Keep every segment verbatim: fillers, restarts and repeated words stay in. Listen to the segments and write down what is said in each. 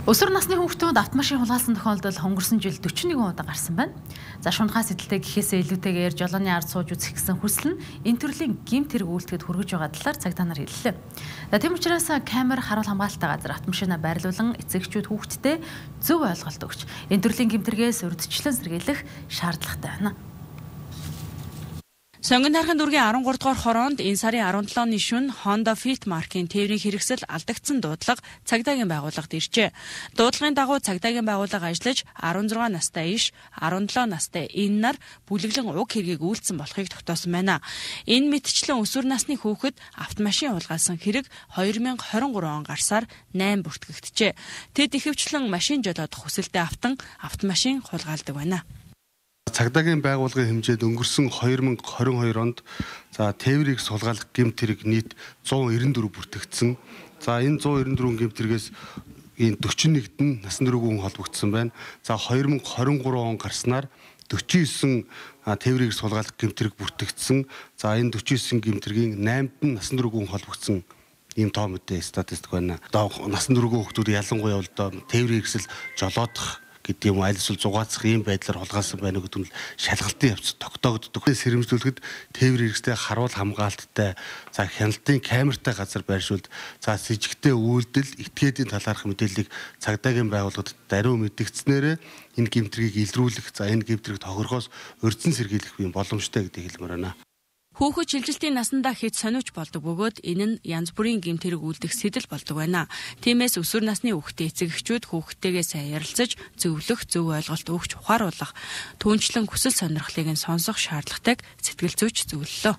Өсвөр насны хүүхдүүд автомашин хулгайлсан тохиолдол өнгөрсөн жил дөрвөн удаа гарсан байна. За шунхаас эдэлтэй гэхээсээ илүүтэйгээр жолооны ард сууж үзэх гэсэн хүсэл нь энэ төрлийн гэмт хэрэг үйлдэхэд хүргэж байгаа талаар цагдаа нар хэллээ. За тийм учраас камер харуул хамгаалалттай газар автомашинаа байрлуулан эцэгчүүд хүүхдтэй зөв ойлголт өгч энэ төрлийн гэмт хэрэгээс урьдчилан сэргийлэх шаардлагатай байна. Сонгон тархан дүүргийн арван гурав дугаар хороонд энэ сарын арван долооны шөнө Honda Fit маркийн тээврийн хэрэгсэл алдагдсан дуудлага цагдаагийн байгууллагад иржээ. Дуудлагын дагуу цагдаагийн байгууллага ажиллаж арван зургаан настай иш, арван долоо настай энэ нар бүлэглэн уг хэргийг үйлдсэн болохыг тогтоосон байна. Энэ мэтчлэн өсвөр насны хүүхэд автомашин хулгайлсан хэрэг хоёр мянга хорин гурав он гарсаар найман бүртгэгдэжээ. Тэд ихэвчлэн машин жолоодох хүсэлтэд автан автомашин хулгайлдаг байна. Цагдаагийн байгууллагын хэмжээд өнгөрсөн хоёр мянга хорин хоёр онд за тээврийг сулгаалах гэмт хэрэг нийт зуун эрдэнэ дөрөв бүртгэгдсэн. За энэ зуун эрдэнэ дөрвөн гэмт хэрэгээс энэ дөрвөн нэгт нь насан туршийн хүн холбогдсон байна. За хоёр мянга хорин гурав он гарснаар дөрвөн девять тээврийг сулгаалах гэмт хэрэг бүртгэгдсэн. За энэ дөрвөн девять гэмт хэргийн найманд нь насан туршийн хүн холбогдсон ийм тоо мэдээ статистик байна. Одоо насан туршийн хүүхдүүд ялангуяа бол тээврийн хэрэгсэл жолоодох гэдэг юм аль эсвэл зугаацах ийм байдлаар хулгайлсан байна гэдэг нь шалгалтын явц тогтоогддог. Сэрэмжлүүлэхэд тээврийн хэрэгстэй харуул хамгаалттай за хяналтын камертай газар байршуулд за с жигтэй үйлдэл этгээдийн талаарх мэдээллийг цагдаагийн байгууллагад даруй мэдгдснээр энэ гэмтрийг илрүүлэх за энэ гэмтрийг тохирохоос урьдчилан сэргийлэх юм боломжтой гэдгийг хэлмээр байна. Хүүхэд шилжилтийн насандаа хэд сониуч болдог бөгөөд энэ нь янз бүрийн гэмт хэрэг үйлдэх сэтэл болдог байна. Тиймээс өсвөр насны хүүхдээ эцэгчүүд хүүхдтэйгээ сайн ярилцаж зөвлөх, зөв ойлголт өгч ухааруулах, түүнчлэн хүсэл сонирхлыг нь сонсох шаардлагатайг сэтгэл зүйч зөвлөлөө.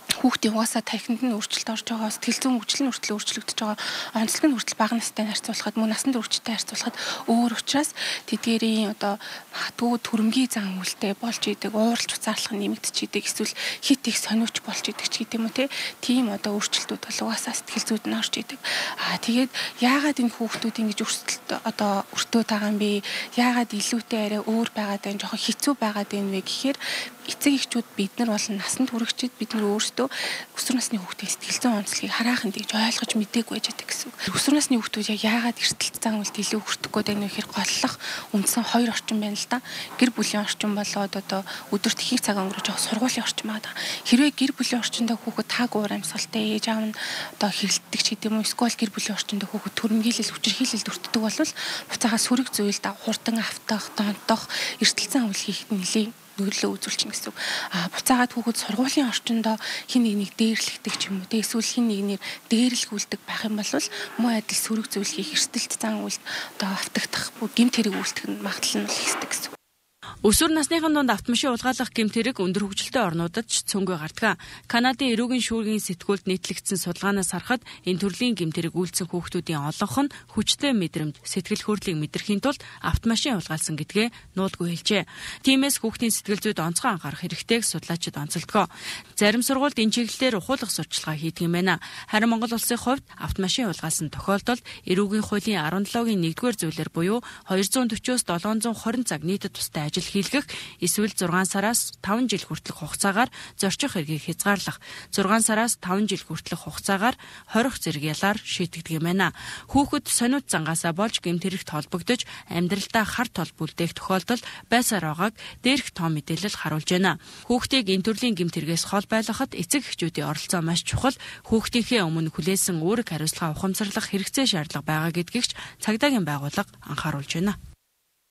Хүүхдийн угаасаа тархинд нь өөрчлөлт орж байгаа, сэтгэл зүйн хөгжил нь хүртэл өөрчлөгдөж байгаа, онцлог нь хүртэл бага настай харьцуулахад мөн насанд хүрчтэй харьцуулахад өөр учраас тэдгээрийн одоо магадгүй төрөмгийн зан үйлтэй болж идэг, ууралж уцаарлах нь нэмэгдэж идэг, эсвэл хит их сониуч болж идэг ч гэдэм үү те. Тийм одоо өөрчлөлтүүд бол угаасаа сэтгэл зүйд нь орж идэг. Аа тэгээд яагаад энэ хүүхдүүд ингэж өөрчлөлт одоо өртөө байгаа юм бэ? Яагаад илүүтэй арай өөр байгаад байна, жоохон хэцүү байгаад байна вэ гэхээр эцэг эхчүүд бид нар бол насанд хүрэгчид бид нар өөрсдөө өсвөр насны хүүхдийн сэтгэл зүйн онцлогийг хараахан дийж ойлгож мдэггүй байж байгаа гэсэн үг. Өсвөр насны хүүхдүүд яг яагаад эрсдэлт зан үйлд илүү хүртэх гээд байна вэ гэхээр голлох үндсэн хоёр орчин байна л да. Гэр бүлийн орчин болоод одоо өдөрт их цаг өнгөрөж байгаа сургуулийн орчин байгаа. Хэрвээ гэр бүлийн орчиндөө хүүхэд тааг уур амьсгалтай ээж аав нь одоо хэрэлддэг ч гэдэм үү эсвэл гэр бүлийн орчиндөө хүүхэд төрөмгийлэл хүчирхийлэлд өртдөг бол буцаага сүрэг зүйл да хурдан автах, донтох, эрсдэлт зан үйл хийхэд нэлээд нөлөө үзүүлчихнэ гэсэн үг. А буцаагаад хүүхэд сургуулийн орчиндөө хин нэг нэг дээрлэгдэг ч юм уу. Эсвэл хин нэг нэр дээрлэгүүлдэг байх юм бол муу адил сөрөг зүйл хийх эрсдэлт зан үйлд одоо автагдах гэмт хэрэг үйлдэх нь магадлал нь ихсдэг гэсэн үг. Өсвөр насныхан донд автомашин хулгайлах гэмт хэрэг өндөр хөгжилтэй орнуудад ч цөөнгөө гардаг. Канадын эрүүгийн шүүргийн сэтгүүлд нийтлэгдсэн судалгаанаас харахад энэ төрлийн гэмт хэрэг үйлдсэн хүүхдүүдийн олонх нь хүчтэй мэдрэмж, сэтгэл хөдлөлийг мэдрэхийн тулд автомашин хулгайлсан гэдгээ нуулгүй хэлжээ. Тиймээс хүүхдийн сэтгэл зүйд онцгой анхаарах хэрэгтэйг судлаачид онцолдгоо. Зарим сургуульд энэ чиглэлээр ухуулах сурчлагаа хийдэг юм байна. Харин Монгол улсын хувьд автомашин хулгайлсан тохиолдолд эрүүгийн хуулийн арван долоогийн нэгдүгээр зүйлээр буюу двести forty-оос seven twenty цаг нийтэд тустай ажил хийлгэх эсвэл зургаан сараас таван жил хүртэлх хугацаагаар зорчих хэргийг хязгаарлах, зургаан сараас таван жил хүртэлх хугацаагаар хорих зэрэг ялаар шийдэгдэг юм байна. Хүүхэд сониуч зангаасаа болж гэмт хэрэгт холбогдож амьдралдаа хар тол бүлдээх тохиолдол байсаар байгааг дээрх том мэдээлэл харуулж байна. Хүүхдийг энэ төрлийн гэмт хэрэгээс хол байлгахад эцэг эхчүүдийн оролцоо маш чухал. Хүүхдийнхээ өмнө хүлээсэн үүрэг хариуцлага ухамсарлах хэрэгцээ шаардлага байгаа гэдгийг ч цагдаагийн байгууллага анхааруулж байна.